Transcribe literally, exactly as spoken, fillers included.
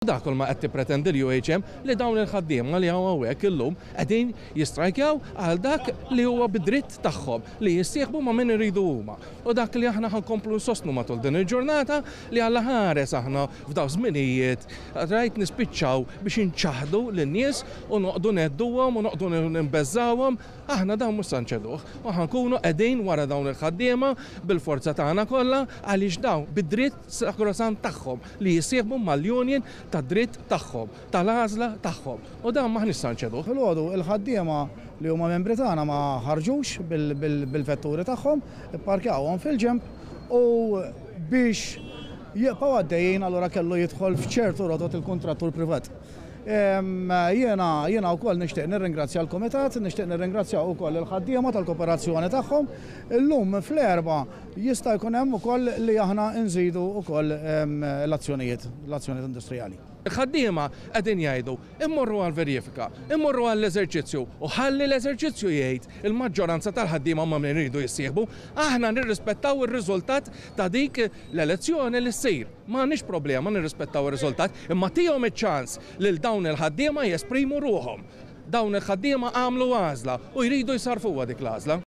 Dak kull ma qed tippretendi l-U H M, li dawn il-ħaddiema li hawn hawnhekk illum qegħdin jistrajkjaw għal dak li huwa bid-dritt tagħhom li jissieħbu ma' min iridu huma. U dak li aħna ħa nkomplu nsostnu matul din il-ġurnata, li Alla ħares aħna f'daw żminijiet rajt nispiċċaw biex inċaħdu lin-nies u noqogħdu nhedduhom u noqogħdu nbeżżawhom, aħna dawn mhux se nċeduh. U ħa nkunu qegħdin wara dawn il-ħaddiema bil-forza tagħna kollha, għaliex dawn bid-dritt sakrosant tagħhom li jissieħbu mal-union ta' dritt tagħhom, tal-għażla tagħhom. U dan m'aħniex se nċeduh. Filgħodu il-ħaddiema li huma membri tagħna ma ħarġux bil-vetturi tagħhom, ipparkjawhom fil-ġemp u biex jibqgħu għaddejjin allura kellu jidħol f'ċertu rotot il-kontrattur privat. Jiena jiena wkoll nixtieq nirringrazzja l-Kumitat, nixtieq nirringrazzja wkoll il-ħaddiema tal-kooperazzjoni tagħhom. Illum fl-erba' jista' jkun hemm ukoll li aħna nżidu wkoll l-azzjonijiet, l-azzjonijiet industrijali. Il-ħaddiema qegħdin jgħidu immorru għal-verifika, immorru għall-eżerċizzju u ħalli l-eżerċizzju jgħid il-maġġoranza tal-ħaddiema ma' min iridu jissieħbu. Aħna nirrispettaw ir-riżultat ta' dik l-elezzjoni li ssir. M'għandniex problema nirrispettaw ir-riżultat, imma tihom iċ-ċans lil dawn il-ħaddiema jesprimu ruħhom. Dawn il-ħaddiema għamlu għażla u jridu jsarfuha dik l-għażla.